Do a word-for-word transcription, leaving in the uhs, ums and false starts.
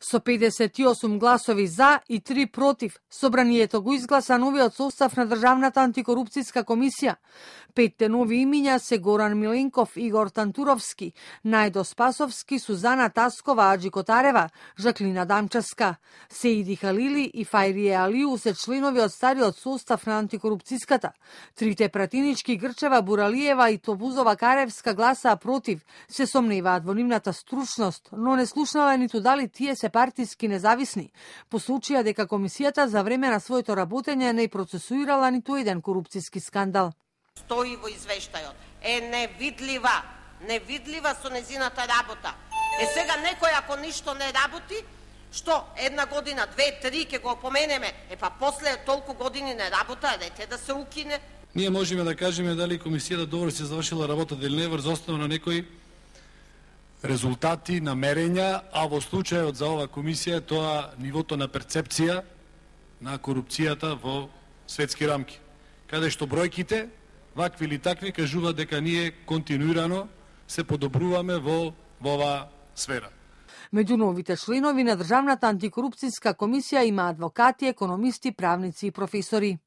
Со педесет и осум гласови за и три против, собранието го изгласа новиот состав на Државната антикорупцијска комисија. Петте нови имиња се Горан Миленков, Игор Тантуровски, Најдо Спасовски, Сузана Таскова, Аџи Котарева, Жаклина Дамчевска. Сеиди Халили и Фајрие Алиу се членови од стариот состав на антикорупцијската. Трите пратинички Грчева, Буралиева и Тобузова Каревска гласаа против, се сомневаат во нивната стручност, но не слушнале ниту дали тие се партиски независни, по случаја дека комисијата за време на своето работење не процесуирала ниту еден корупцијски скандал. Стои во извештајот, е невидлива, невидлива со незината работа. Е сега некој ако ништо не работи, што една година, две, три ќе го опоменеме, е па после толку години не работа, рете да се укине. Ние можеме да кажеме дали комисијата добро се завршила работата или не врз основа на некои резултати, намерења, а во случајот за ова комисија тоа нивото на перцепција на корупцијата во светски рамки, каде што бројките, вакви или такви, кажуваат дека ние континуирано се подобруваме во, во оваа сфера. Меѓу новите членови на Државната антикорупцијска комисија има адвокати, економисти, правници и професори.